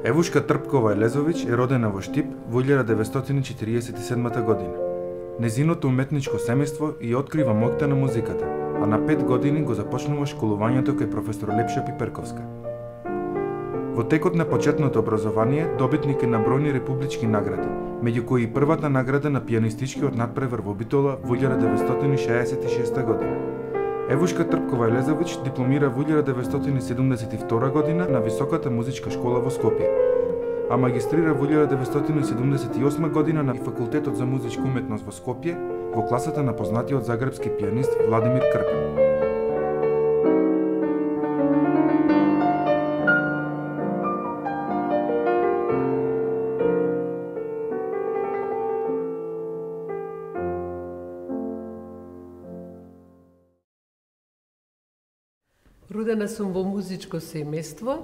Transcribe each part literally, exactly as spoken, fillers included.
Евушка Трпкова Елезович е родена во Штип во илјада деветстотини четириесет и седма година. Незиното уметничко семејство и открива моќта на музиката, а на пет години го започнува школувањето кај професор Лепша Пиперковска. Во текот на почетното образование добитник е на бројни републички награди, меѓу кои и првата награда на пианистичкиот надпревар во Битола во илјада деветстотини шеесет и шеста година. Евушка Трпкова Елезович дипломира во илјада деветстотини седумдесет и втора година на Високата музичка школа во Скопје, а магистрира во илјада деветстотини седумдесет и осма година на Факултетот за музичка уметност во Скопје во класата на познатиот загребски пианист Владимир Крпен. Родена сум во музичко семејство.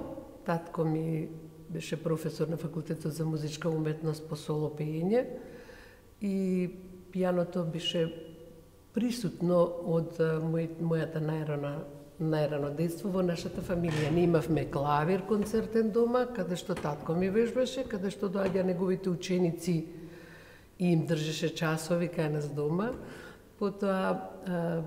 Татко ми беше професор на Факултетот за музичка уметност по соло пеење и пијаното беше присутно од мојата најрана најрано детство во нашата фамилија. Ние имавме клавир концертен дома, каде што татко ми вежбаше, каде што доаѓа неговите ученици и им држеше часови кај нас дома. Потоа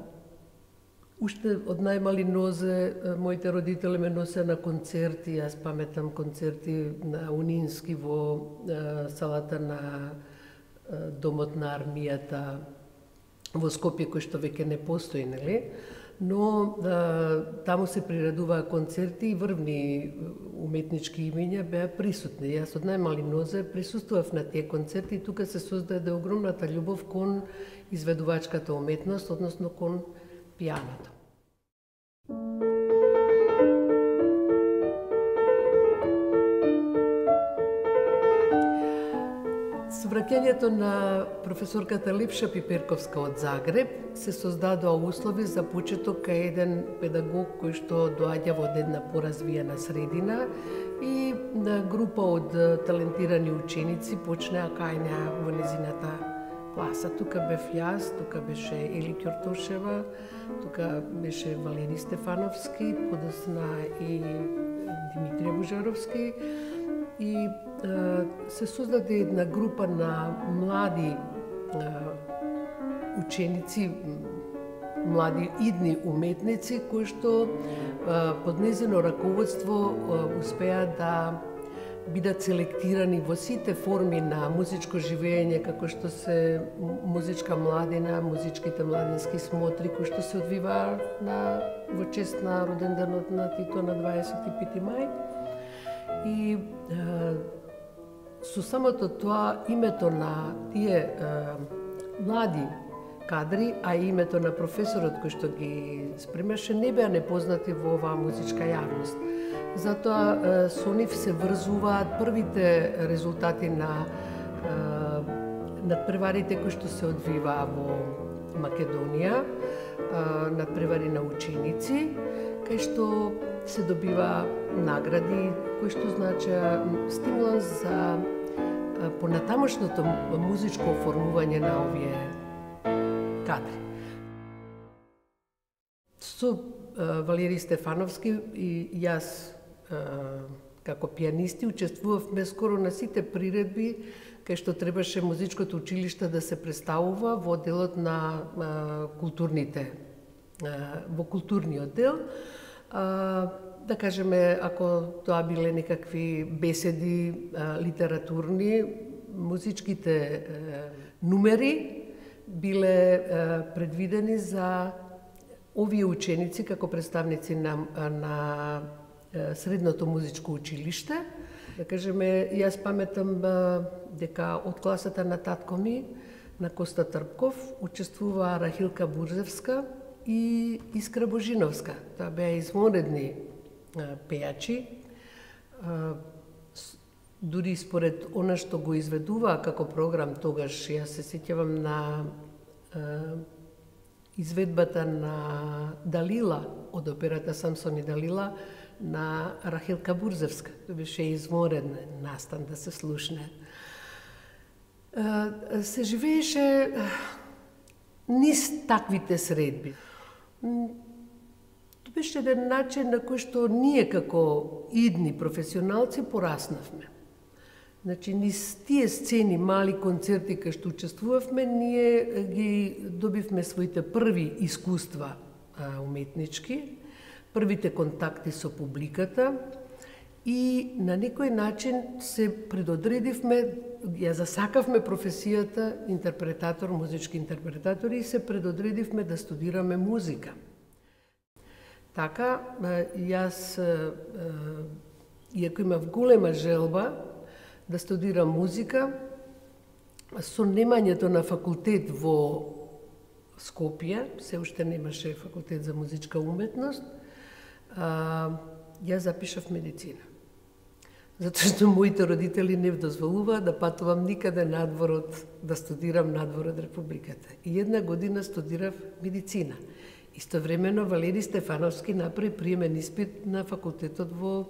уште од најмали нозе, моите родители ме носе на концерти, јас паметам концерти на Унински во салата на Домот на армијата во Скопје, кој што веќе не постои, нели? Но да, таму се приредуваа концерти и врвни уметнички имиња беа присутни. Јас од најмали нозе присуствував на тие концерти и тука се создаде огромната љубов кон изведувачката уметност, односно кон пијаното. Со враќањето на професорката Лепша Пиперковска од Загреб се создадоа услови за почеток кај еден педагог кој што доаѓа во една поразвиена средина и на група од талентирани ученици почнеа кај неа во незината класа. Тука бев јас, тука беше Ели Ќортошева, тука беше Валери Стефановски, подосна и Димитрија Бужаровски. И е, се создаде една група на млади е, ученици, млади идни уметници, кои што е, под незино раководство е, успеа да бидат селектирани во сите форми на музичко живење, како што се музичка младина, музичките младински смотри, кои што се одвиваа на во чест на роденденот на Тито на дваесет и пети мај. И е, со самото тоа името на тие е, млади кадри, а и името на професорот кој што ги спремаше, не беа непознати во оваа музичка јавност. Затоа со нив се врзуваат првите резултати на надпреварите кои што се одвиваа во Македонија, надпревари на ученици, кај што се добива награди, кои што значеа стимуланс за понатамошното музичко оформување на овие кадри. Со Валери Стефановски и јас како пианисти учествувавме скоро на сите приредби кај што требаше музичкото училиште да се представува во делот на културните, во културниот дел. Да кажеме, ако тоа биле некакви беседи литературни, музичките нумери биле предвидени за овие ученици како представници на, на средното музичко училиште. Да кажеме, јас паметам дека од класата на татко ми, на Коста Трпков, учествуваа Рахилка Бурзевска и Искра Божиновска. Тоа беа извонредни пејачи. Дури според она што го изведуваа како програм тогаш, јас се сеќавам на изведбата на Далила од операта Самсон и Далила на Рахилка Бурзевска. Тоа беше извонреден настан да се слушне. Се живееше низ таквите средби. беше еден начин на кој што ние како идни професионалци пораснавме. Значи, низ тие сцени, мали концерти кај што учествувавме, ние ги добивме своите први искуства а, уметнички, првите контакти со публиката и на некој начин се предодредивме, ја засакавме професијата интерпретатор, музички интерпретатор и се предодредивме да студираме музика. Така, јас, иако имав голема желба да студирам музика, со немањето на факултет во Скопје, се уште немаше факултет за музичка уметност, јас запишав медицина. Затоа што моите родители не дозволуваа да патувам никаде надвор од, да студирам надвор од Републиката. И една година студирав медицина. Истовремено Валери Стефановски направи приемен испит на факултетот во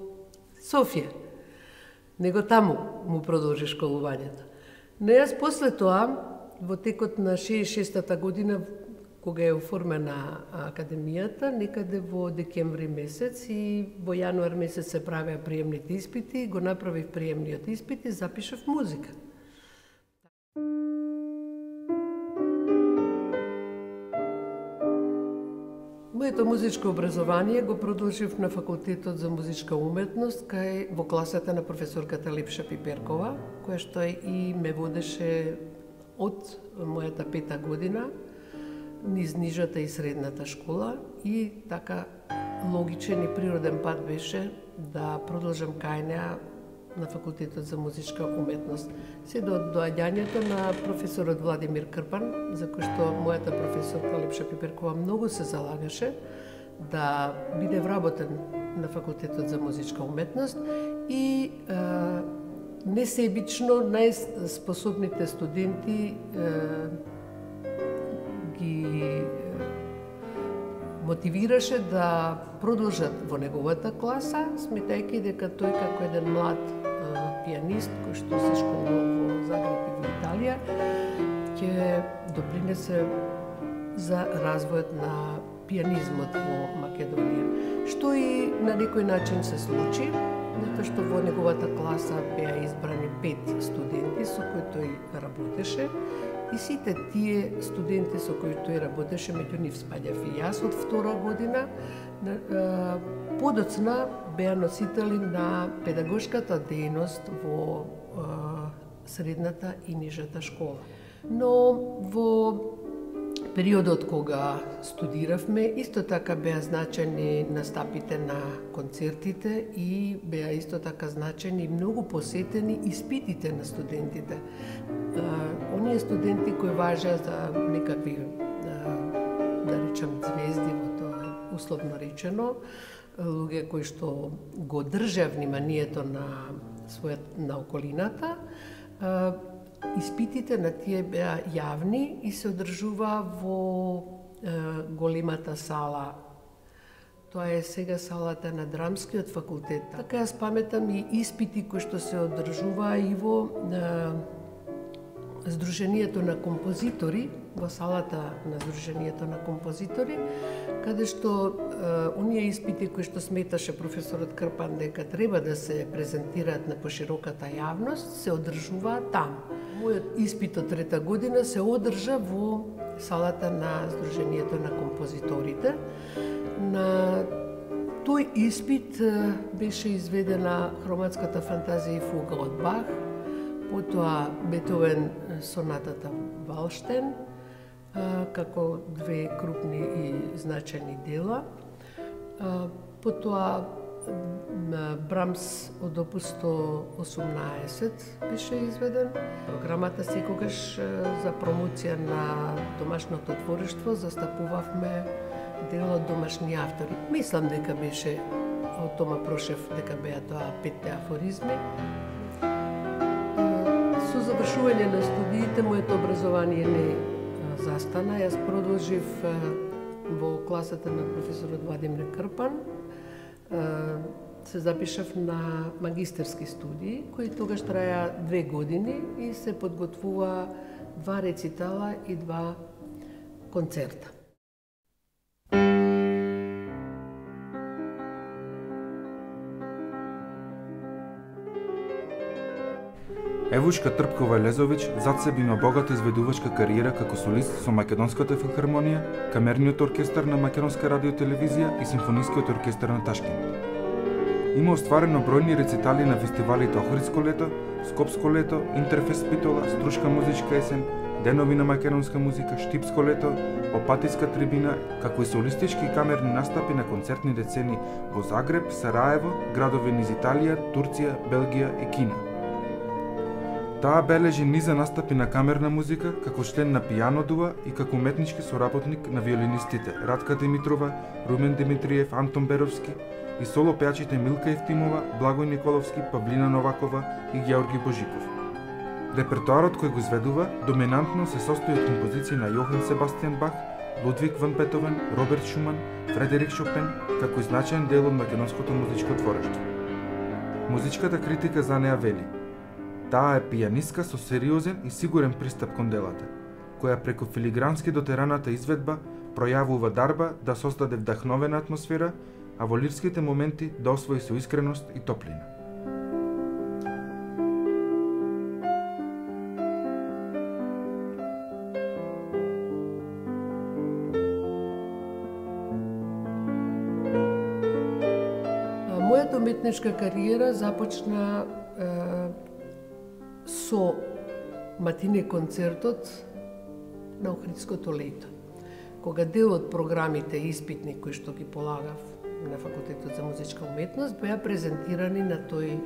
Софија. Него таму му продолжи школувањето. Но јас после тоа, во текот на шеесет и шестата година, кога е оформена академијата, некаде во декември месец и во јануар месец се правеа приемните испити, го направив приемниот испит и запишав музика. Моето музичко образование го продолжив на факултетот за музичка уметност кај во класата на професорката Лепша Пиперкова, која што и ме водеше од мојата пета година низ нижата и средната школа и така логичен и природен пат беше да продолжам кај неа на факултетот за музичка уметност. Се до доаѓањето на професорот Владимир Крпан, за кој што мојата професорка Лепша Пиперкова многу се залагаше да биде вработен на факултетот за музичка уметност и е, несебично најспособните студенти е, ги мотивираше да продолжат во неговата класа, сметајќи дека тој како еден млад а, пианист кој што се школува во Загреб и во Италија, ќе допринесе за развојот на пианизмот во Македонија. Што и на некој начин се случи, затоа што во неговата класа беа избрани пет студенти со кои тој работеше. И сите тие студенти со кои тој работеше, меѓу нив спаѓав и јас од втора година, подоцна беа носители на педагошката дејност во средната и нижата школа. Но во периодот кога студиравме, исто така беа значени настапите на концертите и беа исто така значени и многу посетени испитите на студентите. Оние студенти кои важеа за некакви, да речем, звезди, во тоа условно речено, луѓе кои што го држеа вниманието на својот, на околината, испитите на тие беа јавни и се одржува во е, големата сала. Тоа е сега салата на Драмскиот факултет. Така јас паметам и испити кои што се одржуваа и во е, Сдруженијето на композитори, во салата на Сдруженијето на композитори, каде што е, оние испити кои што сметаше професорот Крпан дека треба да се презентираат на пошироката јавност, се одржуваат таму. Мојот испит од трета година се одржа во салата на Сдруженијето на композиторите. На тој испит беше изведена хроматската фантазија и фуга од Бах, потоа Бетовен сонатата Валштен, како две крупни и значајни дела. Потоа Брамс од опус сто осумнаесет беше изведен. Програмата секогаш за промоција на домашното творештво застапувавме дел од домашни автори. Мислам дека беше од Тома Прошев, дека беа тоа петте афоризми. Со завршување на студиите, моето образование не застана. Јас продолжив во класата на професорот Владимир Крпан. Се запишав на магистерски студии, кои тогаш траја две години и се подготвува два рецитала и два концерта. Евушка Трпкова Лезович зад себе има богата изведувачка кариера како солист со Македонската филхармонија, Камерниот оркестар на Македонска радиотелевизија и Симфонискиот оркестар на Ташкент. Има остварено бројни рецитали на фестивалите Охридско лето, Скопско лето, Интерфест Питола, Струшка музичка есен, Денови на македонска музика, Штипско лето, Опатиска трибина, како и солистички и камерни настапи на концертни децени во Загреб, Сараево, градови низ Италија, Турција, Белгија и Кина. Таа бележи низа настапи на камерна музика како член на Пијано дуа и како уметнички соработник на виолинистите Радка Димитрова, Румен Димитриев, Антон Беровски и соло пеачите Милка Евтимова, Благој Николовски, Павлина Новакова и Георги Божиков. Репертоарот кој го изведува доминантно се состои од композиции на Јохан Себастијан Бах, Лудвиг ван Бетовен, Роберт Шуман, Фредерик Шопен, како и значаен дел од македонското музичко творештво. Музичката критика за неа вели: таа е пијанистка со сериозен и сигурен пристап кон делата, која преку филигрански дотераната изведба пројавува дарба да создаде вдахновена атмосфера, а во лирските моменти да освои со искреност и топлина. Мојата уметничка кариера започна е, со матине концертот на Охридското лето, кога дел од програмите испитни кои што ги полагав на Факултетот за музичка уметност беа презентирани на тој е,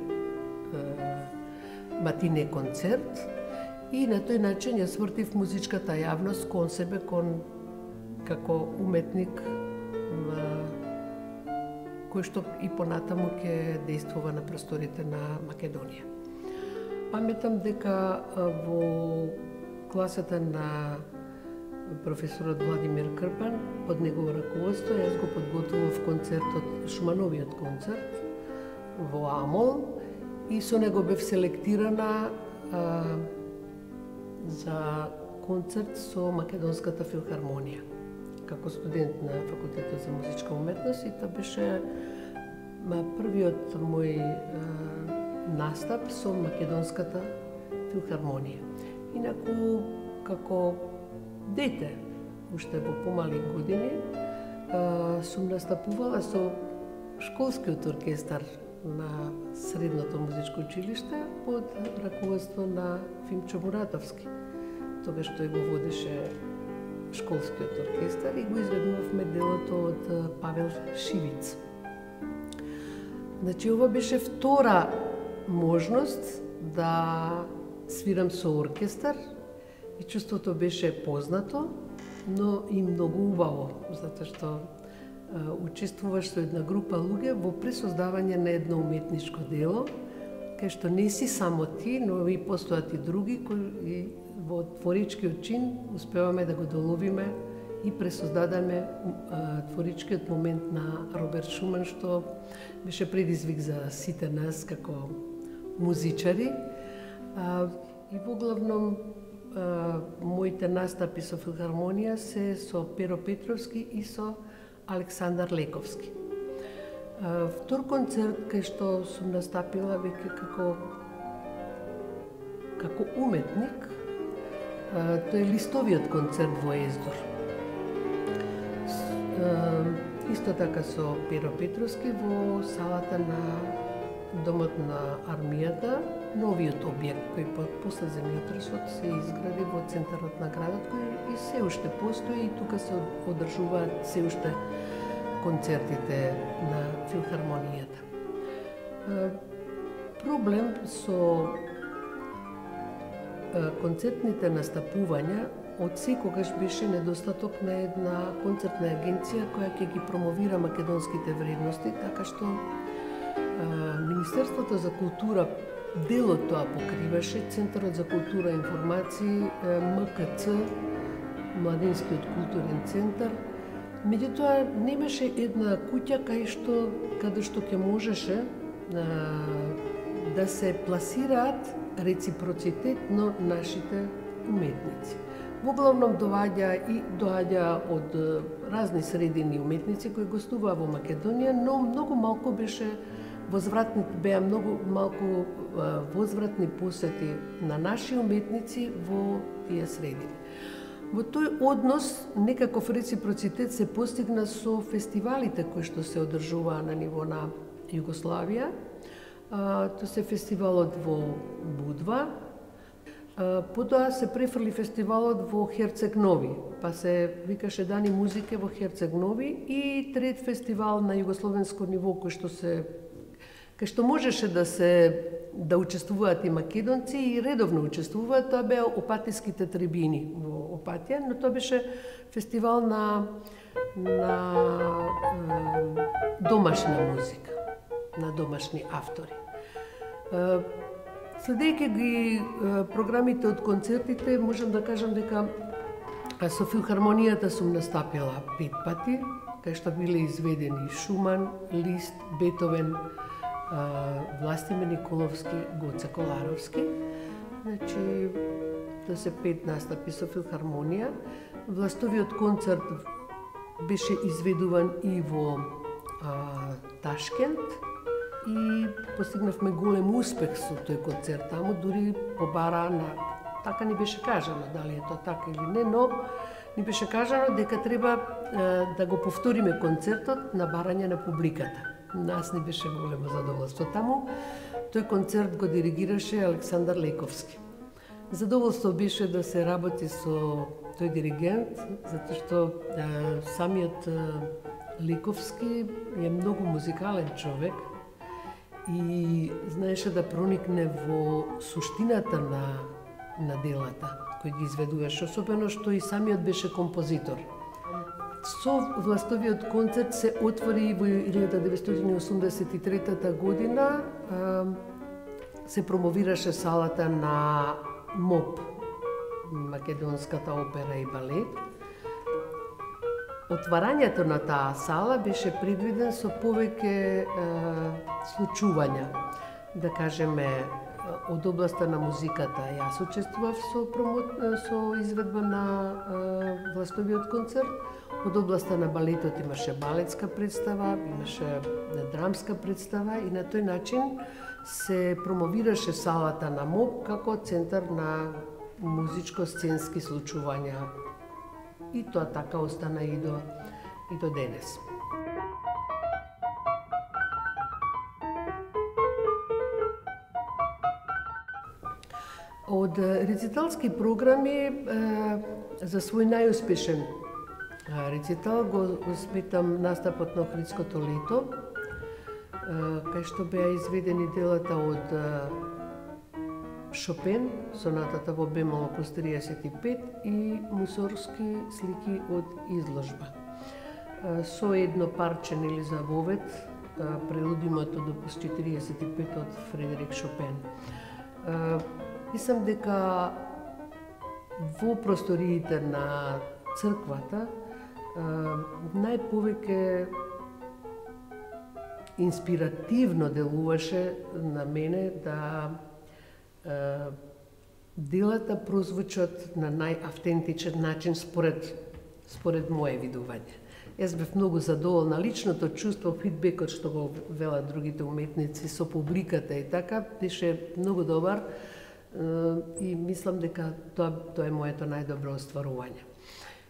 матине концерт и на тој начин ја свртив музичката јавност кон себе, кон како уметник е, кој што и понатаму ќе действува на просторите на Македонија. Паметам дека во класата на професорот Владимир Крпан, под негово раководство, јас го подготвував концертот, Шумановиот концерт во Амол и со него бев селектирана а, за концерт со Македонската филхармонија како студент на Факултетот за музичка уметност, и тоа беше првиот мој а, настап со Македонската филхармонија. Инаку, како дете, уште во помали години, сум настапувала со школскиот оркестар на Средното музичко училиште под раководство на Фимчо Муратовски. Тогаш тој го водеше школскиот оркестар и го изведувавме делото од Павел Шивиц. Значи, ова беше втора можност да свирам со оркестар и чувството беше познато, но и многу убаво, затоа што а, учествуваш со една група луѓе во пресоздавање на едно уметничко дело, кај што не си само ти, но и постојат и други кои во творичкиот чин успеваме да го доловиме и пресоздадаме а, творичкиот момент на Роберт Шуман, што беше предизвик за сите нас како музичари. А, и во главном а, моите настапи со филхармонија се со Перо Петровски и со Александар Лековски. А, втор концерт кај што сум настапила веќе како како уметник, а, тој е листовиот концерт во Ездор. А, исто така со Перо Петровски во салата на Домот на армијата, новиот објект кој после земјотресот се изгради во центарот на градот, кој и се уште постои, и тука се одржуваат се уште концертите на филхармонијата. Проблем со концертните настапувања од секогаш беше недостаток на една концертна агенција која ќе ги промовира македонските вредности, така што Министерството за култура дел од тоа покриваше, Центарот за култура и информации, М К Ц, Младинскиот културен центар. Меѓутоа немаше една куќа кај што каде што ќе можеше а, да се пласираат реципроцитетно нашите уметници. Во главном доаѓа и доаѓа од разни средини уметници кои гостуваа во Македонија, но многу малку беше возвратни беа многу малку возвратни посети на наши уметници во тие средини. Во тој однос некаков реципроцитет се постигна со фестивалите кои што се одржуваа на ниво на Југославија. Тоа се фестивалот во Будва. Потоа се префрли фестивалот во Херцег Нови, па се викаше Дани музике во Херцег Нови, и трет фестивал на југословенско ниво кој што се кај што можеше да се да учествуваат и македонци и редовно учествуваат, тоа беа Опатиските трибини во Опатија, но тоа беше фестивал на на е, домашна музика, на домашни автори. Е, Следејќи ги е, програмите од концертите, можам да кажам дека со филхармонијата сум настапила пет пати, кај што биле изведени Шуман, Лист, Бетовен, Властимир Николовски, Гоце Коларовски. Значи, тоа се пет настапи со филхармонија. Властовиот концерт беше изведуван и во а, Ташкент и постигнавме голем успех со тој концерт таму, дури побара на... Така ни беше кажано, дали е тоа така или не, но ни беше кажано дека треба е, да го повториме концертот на барање на публиката. Нас ни беше големо задоволство таму. Тој концерт го диригираше Александар Лековски. Задоволство беше да се работи со тој диригент, затоа што е, самиот е, Лековски е многу музикален човек и знаеше да проникне во суштината на, на делата кои ги изведуваше, особено што и самиот беше композитор. Со властовиот концерт се отвори во илјада деветстотини осумдесет и трета година, се промовираше салата на МОП, Македонската опера и балет. Отварањето на таа сала беше предвиден со повеќе случувања. Да кажеме, од областа на музиката јас учествував со, промо... со изведба на е, властовиот концерт. Од областа на балетот имаше балетска представа, имаше драмска представа и на тој начин се промовираше салата на МОП како центар на музичко-сценски случувања. И тоа така остана и до, и до денес. Од рециталски програми за свој најуспешен рецитал го сметам настапот на Охридското лето, кај што беа изведени делата од Шопен, сонатата во бемол опус триесет и пет и Мусорски слики од изложба. Со едно парче нели за вовет, прелудимот од опус четириесет и пет од Фредерик Шопен. Мислам дека во просториите на црквата најповеќе инспиративно делуваше на мене да делата прозвучат на најавтентичен начин според, според моje видување. Јас бев многу задоволна. Личното чувство, фидбекот што го велат другите уметници со публиката и така, беше многу добар и мислам дека тоа, тоа е моето најдобро остварување.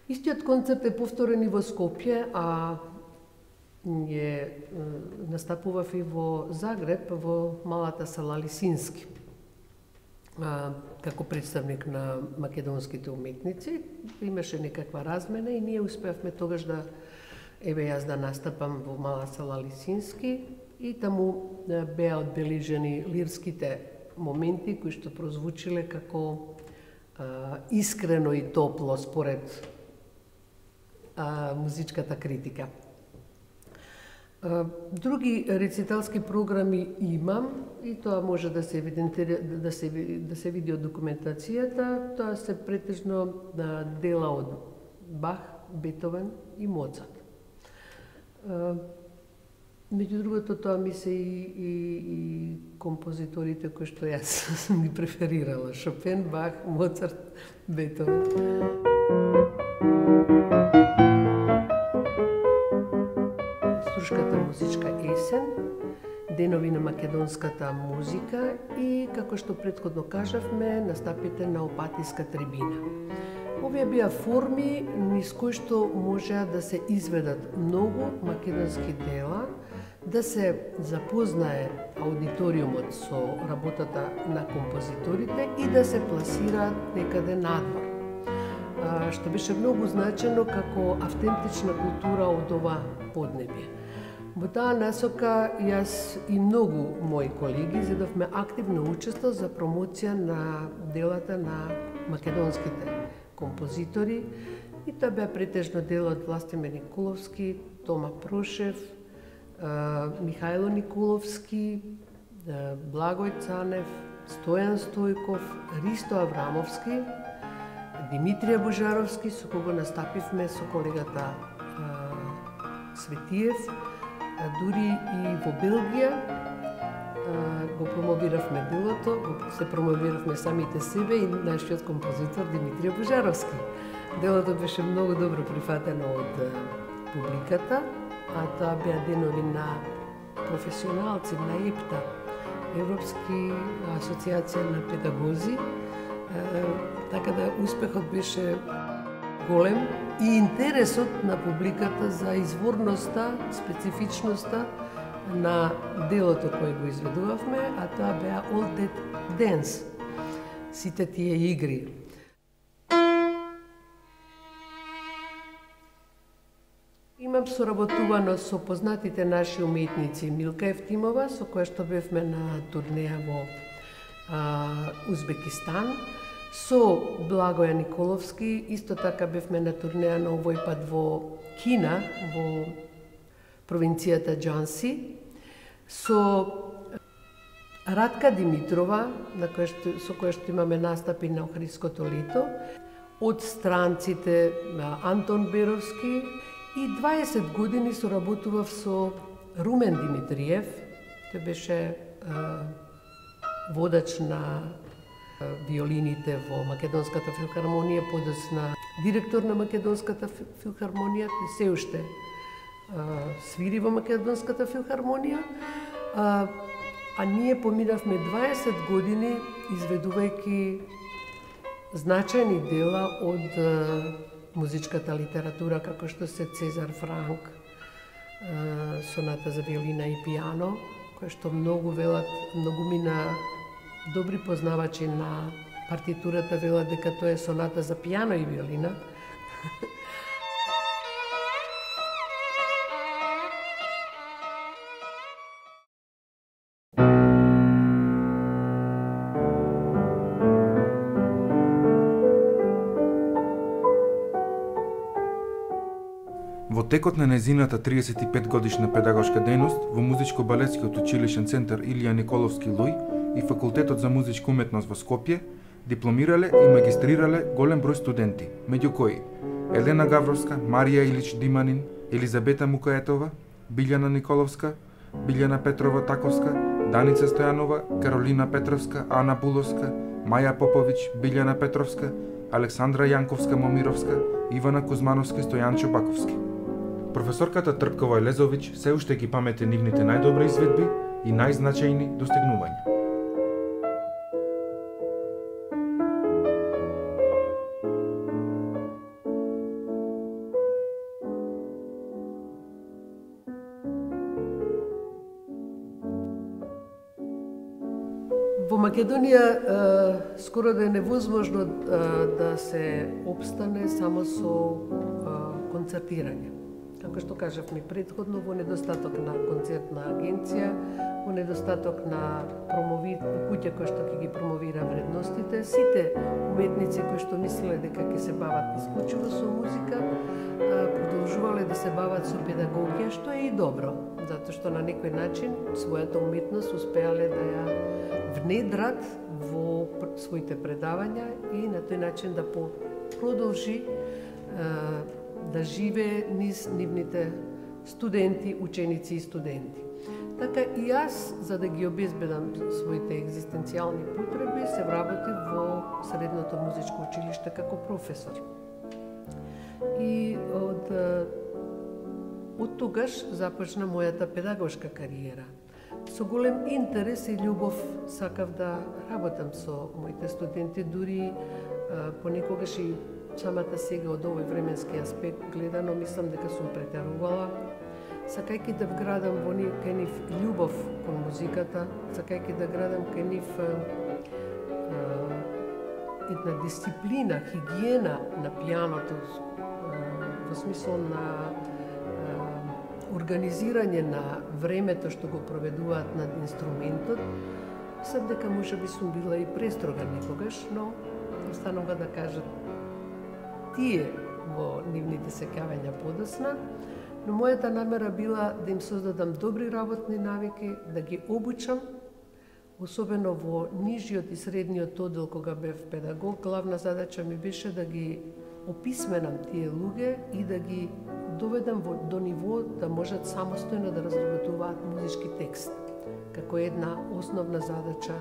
Истиот концерт е повторен и во Скопје, а е настапував и во Загреб, во малата сала Лисински, како представник на македонските уметници. Имаше некаква размена и ние успеавме тогаш да, еве јас да настапам во мала сала Лисински и таму беа одбележени лирските моменти кои што прозвучиле како а, искрено и топло според а, музичката критика. А, други рециталски програми имам и тоа може да се евидентира, да се да се види од документацијата. Тоа се претежно на дела од Бах, Бетовен и Моцарт. А, Меѓу другото, тоа ми се и, и, и композиторите кои што јас сум ги преферирала. Шопен, Бах, Моцарт, Бетовен. Струшката музичка есен, денови на македонската музика и, како што претходно кажавме, настапите на Опатиска трибина. Овие беа форми низ кои што можеа да се изведат многу македонски дела, да се запознае аудиториумот со работата на композиторите и да се пласираат некаде надвор, што беше многу значено како автентична култура од ова поднебје. Во таа насока јас и многу мои колеги зедовме активно учество за промоција на делата на македонските композитори и тоа беа претежно дела од Властимир Николовски, Тома Прошев, Михајло Николовски, Благој Цанев, Стојан Стојков, Ристо Аврамовски, Димитрија Божаровски, со кого настапивме со колегата Светиев, дури и во Белгија го промовиравме делото, се промовиравме самите себе и нашиот композитор Димитрија Божаровски. Делото беше многу добро прифатено од публиката, а тоа беа денови на професионалци на ЕПТА, Европски асоциација на педагози, така да успехот беше голем и интересот на публиката за изворноста, специфичноста на делото кое го изведувавме, а тоа беа All That Dance, сите тие игри. Имам соработувано со познатите наши уметници Милка Евтимова, со која што бевме на турнеја во а, Узбекистан, со Благоја Николовски, исто така бевме на турнеја на овој пат во Кина, во провинцијата Џанси, со Радка Димитрова, на која што, со која што имаме настапи на Охридското лето, од странците Антон Беровски, и дваесет години соработував со Румен Димитриев, тој беше е, водач на е, виолините во Македонската филхармонија, подосна директор на Македонската филхармонија, кој се уште е, свири во Македонската филхармонија, а, а ние поминавме дваесет години изведувајќи значајни дела од е, музичката литература, како што се Цезар Франк, соната за виолина и пијано, која што многу велат, многу мина добри познавачи на партитурата велат дека тоа е соната за пијано и виолина. Во текот на незината триесет и пет годишна педагошка дејност во Музичко-балетскиот училишен центар Илија Николовски Луј и Факултетот за музичка уметност во Скопје дипломирале и магистрирале голем број студенти, меѓу кои Елена Гавровска, Марија Илич Диманин, Елизабета Мукаетова, Билјана Николовска, Билјана Петрова Таковска, Даница Стојанова, Каролина Петровска, Ана Буловска, Маја Поповиќ, Билјана Петровска, Александра Јанковска Момировска, Ивана Кузмановска и Стојанчо Баковски. Професорката Трпкова Елезовиќ се уште ги памете нивните најдобри изведби и најзначајни достигнувања. Во Македонија скоро да е невозможно да се обстане само со концертирање. Како што кажавме претходно, во недостаток на концертна агенција, во недостаток на промови... куќа која што ќе ги промовира вредностите, сите уметници кои што мислеле дека ќе се бават исклучиво со музика, продолжувале да се бават со педагогија, што е и добро, затоа што на некој начин својата уметност успеале да ја внедрат во своите предавања и на тој начин да продолжи да живее низ нивните студенти, ученици и студенти. Така и јас, за да ги обезбедам своите екзистенцијални потреби, се вработив во Средното музичко училиште како професор. И од, од тогаш започна мојата педагошка кариера. Со со голем интерес и љубов сакав да работам со моите студенти, дури понекогаш и самата сега од овој временски аспект гледано, мислам дека сум претерувала, сакајќи да вградам во нив, кај нив љубов кон музиката, сакајќи да градам кај нив една дисциплина, хигиена на пијаното, во смисол на организирање на времето што го проведуваат над инструментот. Мислам дека можеби сум била и престрога некогаш, но останува да кажат тие во нивните сеќавања подосна, но мојата намера била да им создадам добри работни навики, да ги обучам, особено во нижиот и средниот оддел кога бев педагог. Главна задача ми беше да ги описменам тие луѓе и да ги доведам во, до ниво да можат самостојно да разработуваат музички текст, како една основна задача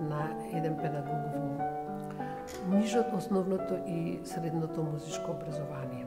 на еден педагог во нижот, основното и средното музичко образование.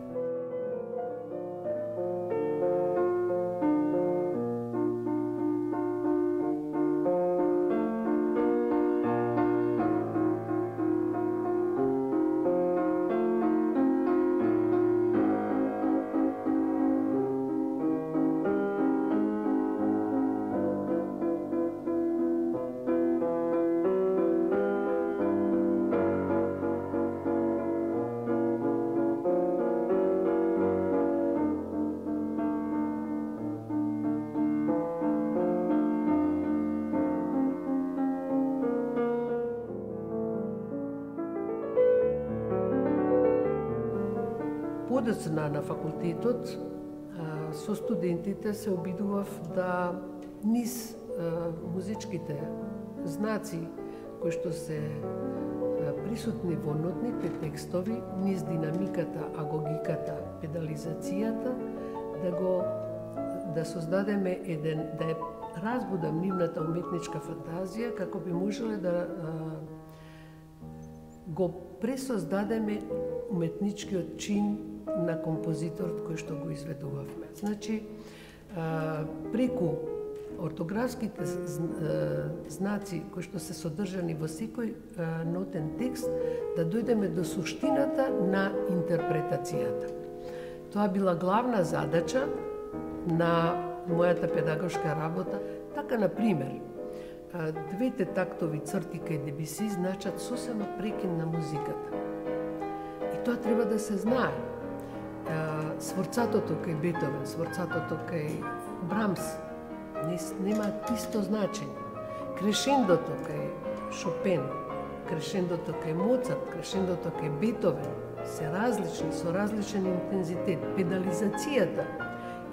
Подоцна на факултетот, со студентите се обидував да низ музичките знаци кои што се присутни во нотните текстови, низ динамиката, агогиката, педализацијата, да го да создадеме еден, да ја разбудам нивната уметничка фантазија, како би можеле да го пресоздадеме уметничкиот чин на композиторот кој што го изведувавме. Значи, преку ортографските знаци кои што се содржани во секој нотен текст, да дојдеме до суштината на интерпретацијата. Тоа била главна задача на мојата педагошка работа. Така, на пример, двете тактови црти кај Дебюси значат сосема прекин на музиката. И тоа треба да се знае. Сворцатото кај Бетовен, сворцатото кај Брамс немаат исто значење. Крешендото кај Шопен, крешендото кај Моцарт, крешендото кај Бетовен се различни, со различен интензитет. Педализацијата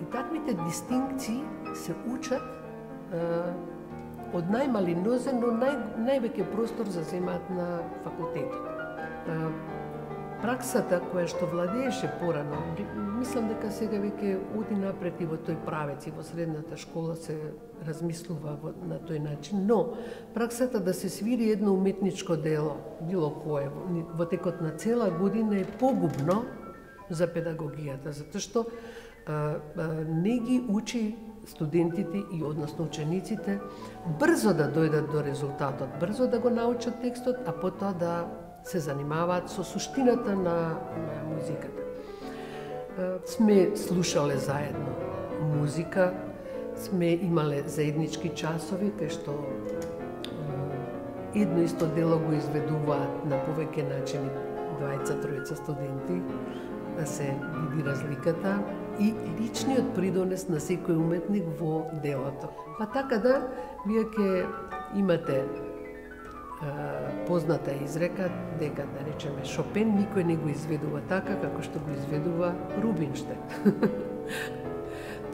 и таквите дистинкции се учат од најмали нозе, но нај, највеќе простор заземаат на факултетот. Праксата која што владееше порано, мислам дека сега веќе оди напред и во тој правец, и во средната школа се размислува на тој начин, но праксата да се свири едно уметничко дело, било кое, во текот на цела година е погубно за педагогијата, затоа што а, а, не ги учи студентите и односно учениците брзо да дојдат до резултатот, брзо да го научат текстот, а потоа да се занимаваат со суштината на, на музиката. Сме слушале заедно музика, сме имале заеднички часови, кај што едно исто дело го изведуваат на повеќе начини двајца, тројца студенти, да се види разликата и личниот придонес на секој уметник во делото. Па така да, вие ќе имате позната изрека дека, да речеме, Шопен никој не го изведува така како што го изведува Рубинштейн.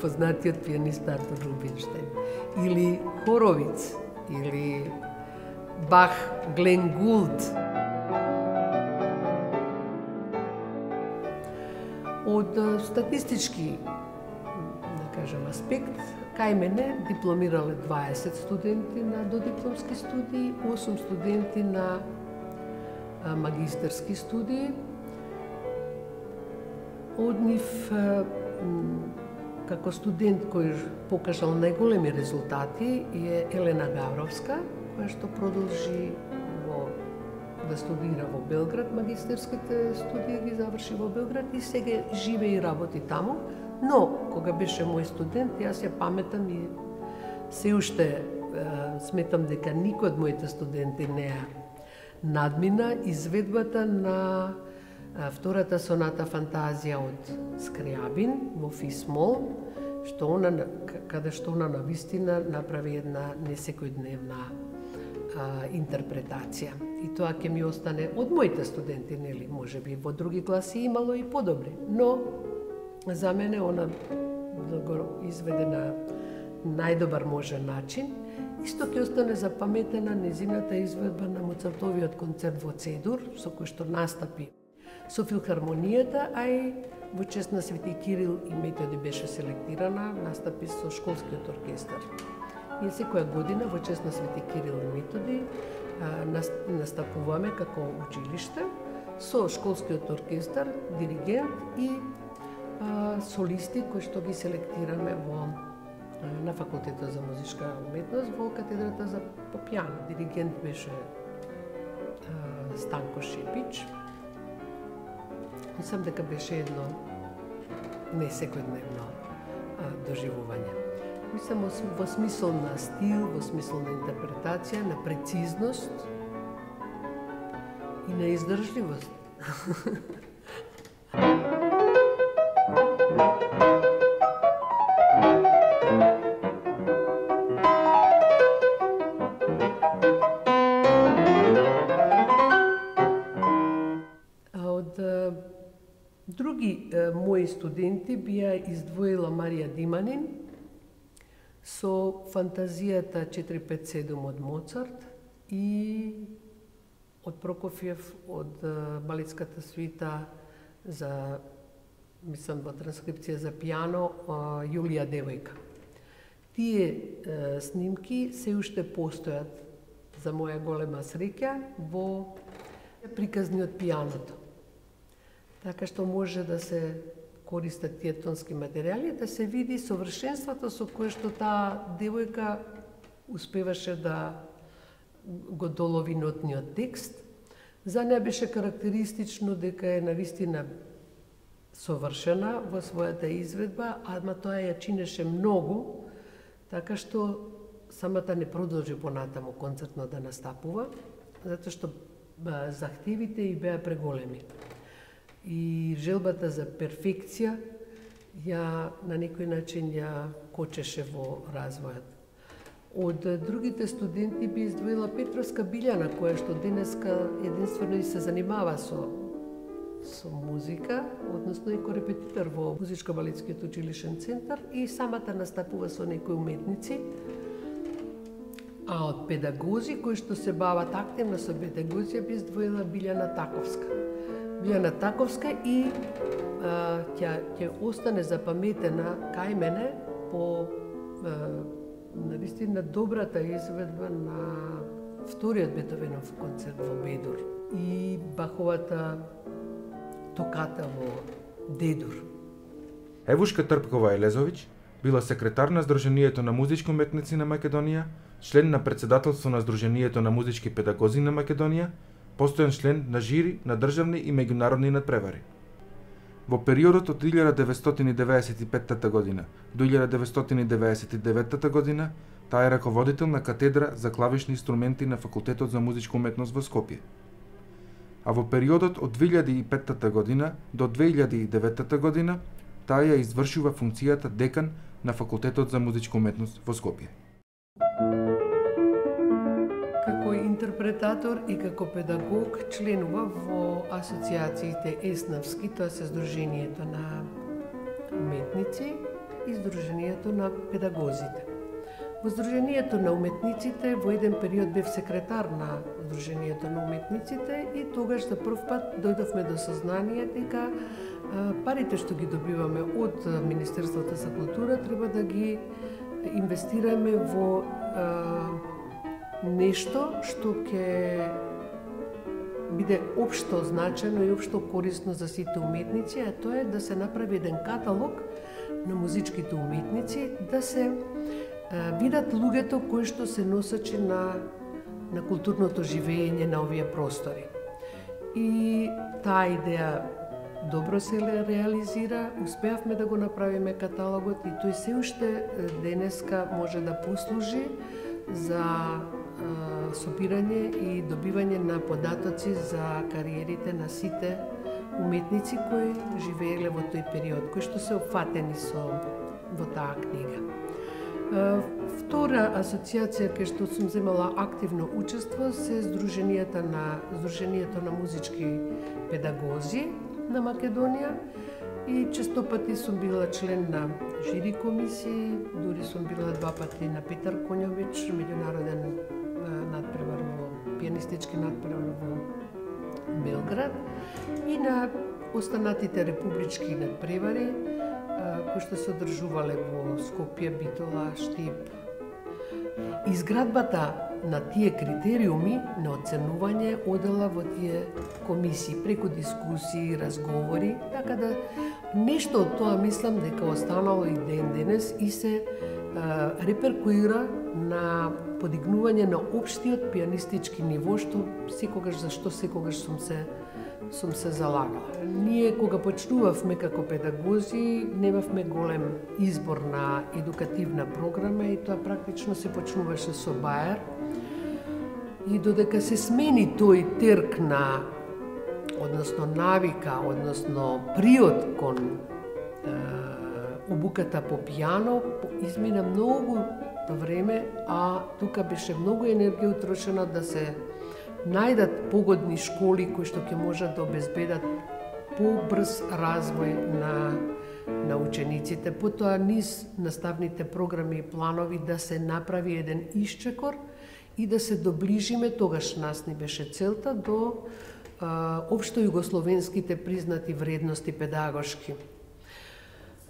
Познатиот пианист Артур Рубинштейн. Или Хоровиц, или Бах, Глен Гулд. Од статистички, да кажем, аспект, кај мене дипломирале дваесет студенти на додипломски студии, осум студенти на магистерски студии. Од нив, како студент кој покажал најголеми резултати е Елена Гавровска, која што продолжи во, да студира во Белград, магистерските студии ги заврши во Белград и сега живее и работи таму. Но, кога беше мој студент, јас ја паметам и се уште е, сметам дека никој од моите студенти не ја надмина изведбата на е, втората соната фантазија од Скрјабин во Фисмол, што она, каде што она навистина направи една несекојдневна а, интерпретација. И тоа ќе ми остане од моите студенти, нели, можеби во други класи имало и подобри, но за мене она да го изведе на најдобар можен начин. Исто ќе остане запаметена незината изведба на Моцартовиот концерт во Цедур, со кој што настапи со филхармонијата, а и во чест на Свети Кирил и Методи беше селектирана, настапи со школскиот оркестар. Ние секоја година во чест на Свети Кирил и Методи настапуваме како училиште со школскиот оркестар, диригент и солисти кои што ги селектираме во на факултетот за музичка уметност во катедрата за пијано. Диригент беше а, Станко Шепич. Мислам дека беше едно не секојдневно доживување. Мислам во смисол на стил, во смисол на интерпретација, на прецизност и на издржливост. Други е, мои студенти би ја издвоила Марија Диманин со фантазијата четири пет седум од Моцарт и од Прокофиев, од е, балетската свита за, мислам, во транскрипција за пијано, е, Јулија девојка. Тие е, снимки се уште постојат, за моја голема среќа, во приказни од пијаното. Така што може да се користат тие тонски материјали, да се види совршенството со кое што таа девојка успеваше да го долови нотниот текст. За неа беше карактеристично дека е навистина совршена во својата изведба, ама тоа ја чинеше многу, така што самата не продолжи понатаму концертно да настапува, затоа што захтевите и беа преголеми. И желбата за перфекција ја на некој начин ја кочеше во развојот. Од другите студенти би издвоила Петровска Билјана, која што денеска единствено и се занимава со со музика, односно и корепетитор во Музичко-балетскиот училишен центар и самата настапува со некои уметници. А од педагози кои што се бават активно со педагозија би издвоила Билјана Таковска. Билјана Таковска и а, ќе ќе остане запаметена кај мене по а, навистина добрата изведба на вториот Бетовенов концерт во Бедур и Баховата токата во Дедур. Евушка Трпкова Елезовиќ била секретар на Сдруженијето на музички уметници на Македонија, член на председателство на Сдруженијето на музички педагози на Македонија, постојан член на жири на државни и меѓународни надпревари. Во периодот од илјада деветстотини деветдесет и петта година до илјада деветстотини деветдесет и деветта година таа е раководител на катедра за клавишни инструменти на Факултетот за музичка уметност во Скопје. А во периодот од две илјади и петта година до две илјади и деветта година таа ја извршува функцијата декан на Факултетот за музичка уметност во Скопје. Како интерпретатор и како педагог членува во асоциациите ЕСНАВСКИ, тоа се Сдруженијето на уметници и Сдруженијето на педагозите. Во Сдруженијето на уметниците во еден период бев секретар на Сдруженијето на уметниците и тогаш за прв пат дојдовме до сознание дека парите што ги добиваме од Министерството за култура треба да ги инвестираме во нешто што ќе биде општо значено и општо корисно за сите уметници, а тоа е да се направи еден каталог на музичките уметници да се а, видат луѓето кои што се носачи на, на културното живење на овие простори. И таа идеја добро се реализира, успеавме да го направиме каталогот и тој се уште денеска може да послужи за собирање и добивање на податоци за кариерите на сите уметници кои живееле во тој период, кои што се опфатени со во таа книга. Втора асоциација кај што сум земала активно учество се Сдруженијата на Сдруженијето на музички педагози на Македонија и често пати сум била член на жири комисии, дури сум била два пати на Петар Коњович, меѓународен надпревар во пианистички надпревар во Белград и на останатите републички надпревари кои што се одржувале во Скопје, Битола, Штип. Изградбата на тие критериуми на оценување одела во тие комисии преку дискусии, разговори, така да нешто од тоа мислам дека останало и ден денес и се а, реперкуира на подигнување на општиот пианистички ниво, што секогаш, за што секогаш сум се сум се залагала. Ние кога почнувавме како педагози, немавме голем избор на едукативна програма и тоа практично се почнуваше со баер. И додека се смени тој терк на, односно навика, односно приот кон е, обуката по пијано, измина многу време, а тука беше многу енергија утрошена да се најдат погодни школи кои што ќе можат да обезбедат побрз развој на, на учениците. Потоа низ наставните програми и планови да се направи еден исчекор и да се доближиме, тогаш нас ни беше целта, до а, општо југословенските признати вредности педагошки.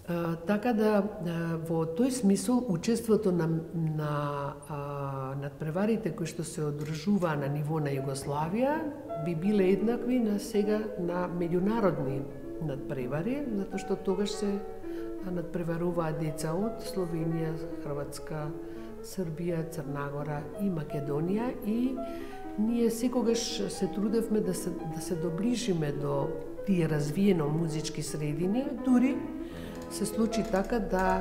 А, така да, а, во тој смисол, учеството на, на а, надпреварите кои што се одржуваа на ниво на Југославија би биле еднакви на сега на меѓународни надпревари, затоа што тогаш се надпреваруваа деца од Словенија, Хрватска, Србија, Црна Гора и Македонија и ние секогаш се трудевме да се, да се доближиме до тие развиено музички средини, дури се случи така да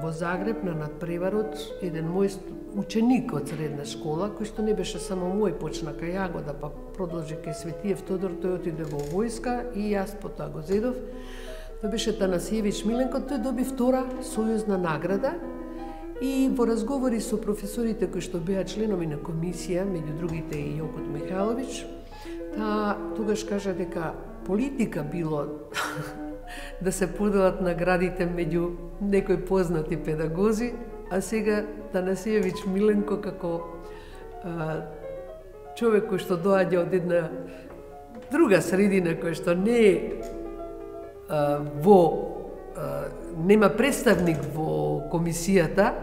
во Загреб на надпреварот еден мој ученик од средна школа, кој што не беше само мој, почна кај Јагода, па продолжи кај Светиев Тодор, тој отиде во војска и јас потоа го зедов. Тој беше Танасиевич Миленко, тој доби втора сојузна награда и во разговори со професорите кои што беа членови на комисија, меѓу другите и Јокот Михайлович, та тогаш кажа дека политика било да се поделат наградите меѓу некои познати педагози, а сега Танасиевич Миленко како а, човек кој што доаѓа од една друга средина која што не е а, во а, нема представник во комисијата,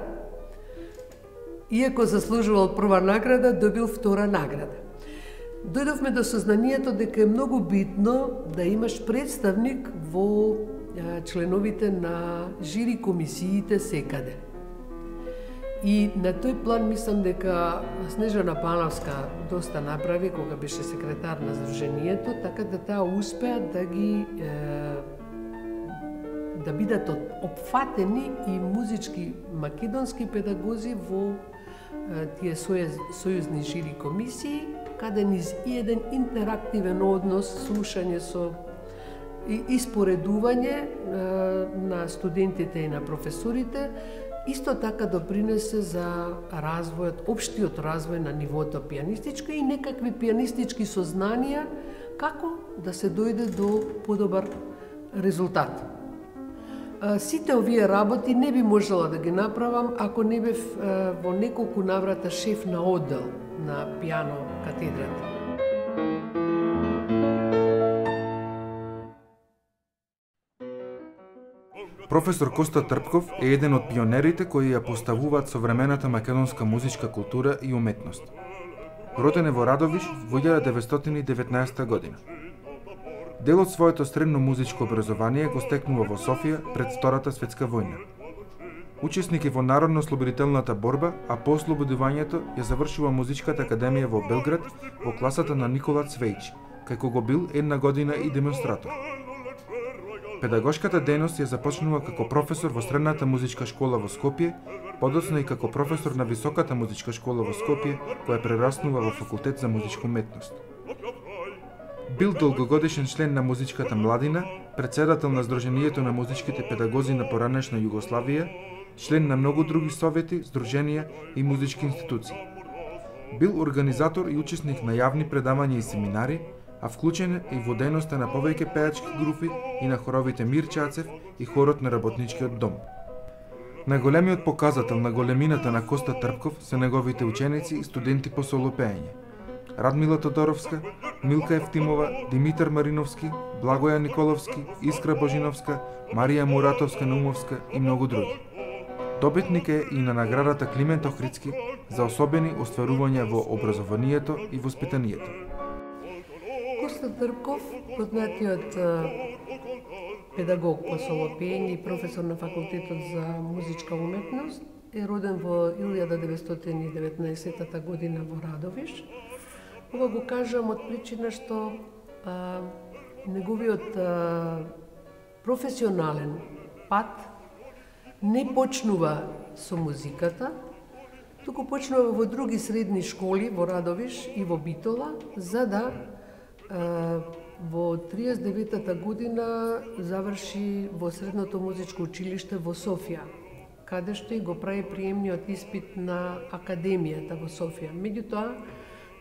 иако заслужувал прва награда, добил втора награда. Дојдовме до сознанието дека е многу битно да имаш представник во членовите на жири комисиите секаде. И на тој план мислам дека Снежана Пановска доста направи кога беше секретар на Сдруженијето, така да таа успеа да ги е, да бидат опфатени и музички македонски педагози во е, тие сојузни жири комисии, каде низ и еден интерактивен однос, слушање со и испоредување е, на студентите и на професорите, исто така допринесе за развојот, општиот развој на нивото пианистичко и некакви пианистички сознанија како да се дојде до подобар резултат. Сите овие работи не би можела да ги направам ако не бев во неколку наврата шеф на оддел на пијано катедрата. Професор Коста Трпков е еден од пионерите кои ја поставуваат современата македонска музичка култура и уметност. Роден е во Радовиш во илјада деветстотини и деветнаесета година. Дел од своето средно музичко образование го стекнува во Софија пред Втората светска војна. Учесник е во Народно-ослободителната борба, а по ослободувањето ја завршува Музичката академија во Белград во класата на Никола Цвејч, кај кого бил една година и демонстратор. Педагошката дејност ја започнува како професор во Средната музичка школа во Скопје, подоцна и како професор на Високата музичка школа во Скопје, која прераснува во Факултет за музичка уметност. Бил долгогодишен член на музичката младина, председател на Сдруженијето на музичките педагози на поранешна Југославија, член на многу други совети, здруженија и музички институции. Бил организатор и учесник на јавни предавања и семинари, а вклучен и во дејноста на повеќе пеачки групи и на хоровите Мир Чацев и хорот на Работничкиот дом. Најголемиот показател на големината на Коста Трпков се неговите ученици и студенти по солопење. Радмила Тодоровска, Милка Евтимова, Димитар Мариновски, Благоја Николовски, Искра Божиновска, Марија Муратовска-Наумовска и многу други. Добитник е и на наградата Климент Охридски за особени остварувања во образованието и воспитанието. Коста Трпков, познатиот педагог по солопење и професор на Факултетот за музичка уметност, е роден во илјада деветстотини и деветнаесетта година во Радовиш. Ова го кажам од причина што а, неговиот а, професионален пат не почнува со музиката, туку почнува во други средни школи во Радовиш и во Битола, за да а, во триесет и деветата година заврши во Средното музичко училиште во Софија, каде што и го прави приемниот испит на Академијата во Софија. Меѓутоа,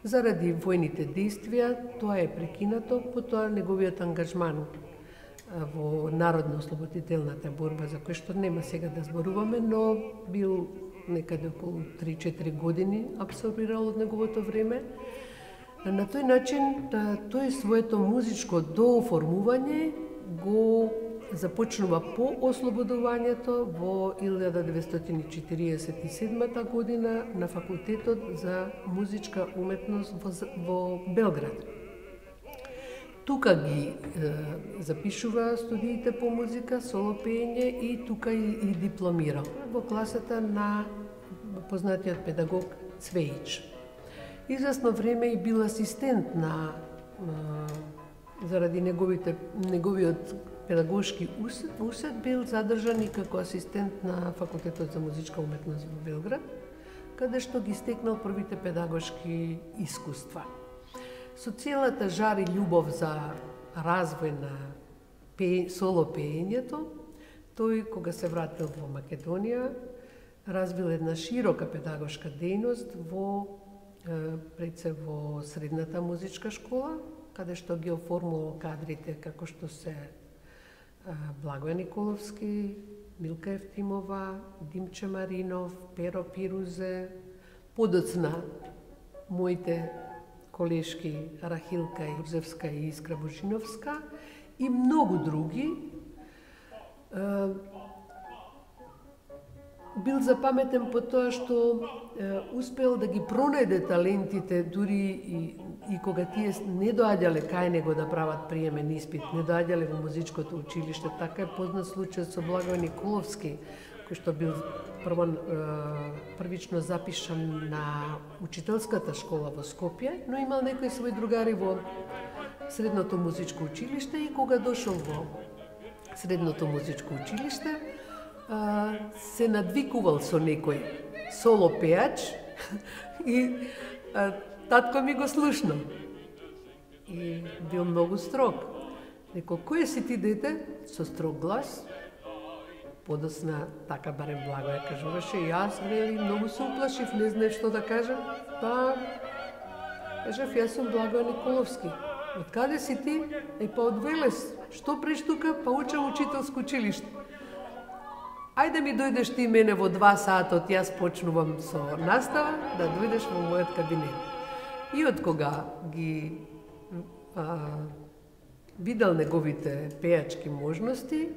заради војните действија, тоа е прекинато, потоа неговиот ангажман во Народно-ослободителната борба, за кој што нема сега да зборуваме, но бил некаде околу три-четири години абсорбирал од неговото време. На тој начин, тој своето музичко дооформување го започнува по ослободувањето во илјада деветстотини четириесет и седма година на Факултетот за музичка уметност во, во Белград. Тука ги е, запишува студиите по музика, солопење и тука и, и дипломирал во класата на познатиот педагог Цвејч. Известно време и бил асистент на е, заради неговите неговиот педагошки усет, усет бил задржан и како асистент на Факултетот за музичка уметност во Белград, каде што ги стекнал првите педагошки искуства. Со целата жар и љубов за развој на пе... соло пеењето, тој кога се вратил во Македонија, развил една широка педагошка дејност во пред се во Средната музичка школа, каде што ги оформувал кадрите како што се Благоја Николовски, Милка Евтимова, Димче Маринов, Перо Пирузе, подоцна моите колешки Рахилка Јузевска и Искра Божиновска и многу други. Бил запаметен по тоа што е, успел да ги пронајде талентите дури и, и кога тие не доаѓале кај него да прават приемен испит, не доаѓале во музичкото училиште. Така е познат случајот со Благој Николовски, кој што бил прво, е, првично запишан на учителската школа во Скопје, но имал некои своји другари во Средното музичко училиште и кога дошол во Средното музичко училиште, се надвикувал со некој соло пеач и а, татко ми го слушнал. И бил многу строг. Рекол, кој си ти, дете? Со строг глас. Подосна, така барем Благоја кажуваше, јас вели многу се уплашив, не знаев што да кажам. Па, кажав, јас сум Благоја Николовски. Од каде си ти? Е, па од Велес. Што преш тука? Па учам учителско училиште. Ајде ми дојдеш ти мене во два сатот, јас почнувам со настава, да дојдеш во мојот кабинет. И од кога ги а, видел неговите пеачки можности,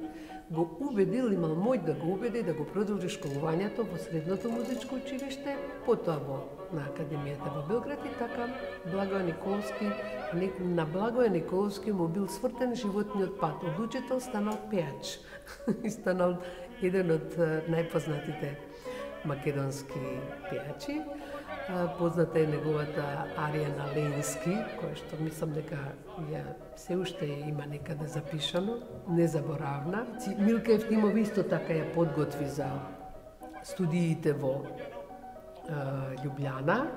го убедил, имал мој да го убеди да го продолжи школувањето во Средното музичко училиште, потоа во на Академијата во Белград и така Благој Николовски На Благоje Николовски му бил свртен животниот пат. Од учител станал пеач и станал еден од најпознатите македонски пеачи. Позната е неговата арија на Ленски, која што мислам дека ја се уште има некаде запишано, незаборавна. Милка Евтимов исто така ја подготви за студиите во е, Љубљана.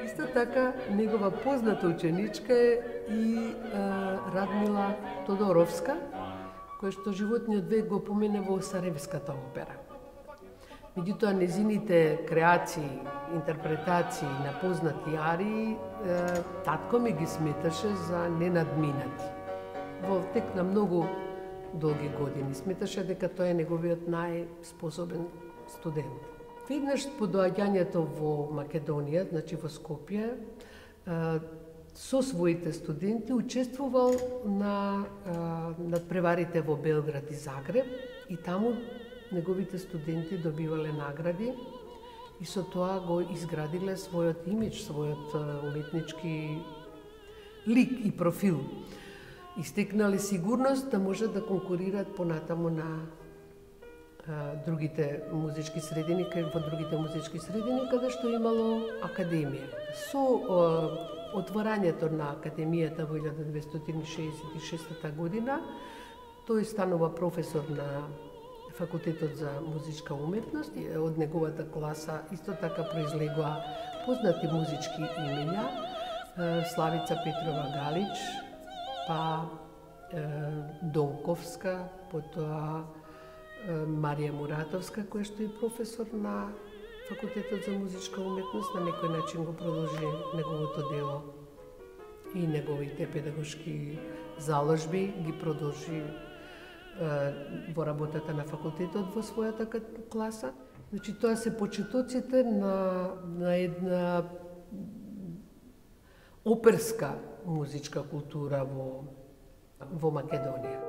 Исто така негова позната ученичка е и е, Радмила Тодоровска, која што животниот век го помине во Сарајевската опера. Меѓутоа, незините креации, интерпретации на познати арии, татко ми ги сметаше за ненадминати. Во тек на многу долги години сметаше дека тој е неговиот најспособен студент. Веднаш по доаѓањето во Македонија, значи во Скопје, со своите студенти учествувал на надпреварите во Белград и Загреб и таму неговите студенти добивале награди и со тоа го изградиле својот имидж, својот уметнички лик и профил. И стекнале сигурност да можат да конкурираат понатаму на а, другите музички средини, кај во другите музички средини, каде што имало академија. Со а, отворањето на академијата во илјада деветстотини шеесет и шеста година, тој станува професор на Факултетот за музичка уметност. Од неговата класа исто така произлегоа познати музички имења, Славица Петрова Галич, па Донковска, потоа Марија Муратовска, која што е професор на Факултетот за музичка уметност, на некој начин го продолжи неговото дело и неговите педагошки заложби ги продолжи во работата на факултетот во својата класа. Значи, тоа се почетоците на, на една оперска музичка култура во, во Македонија.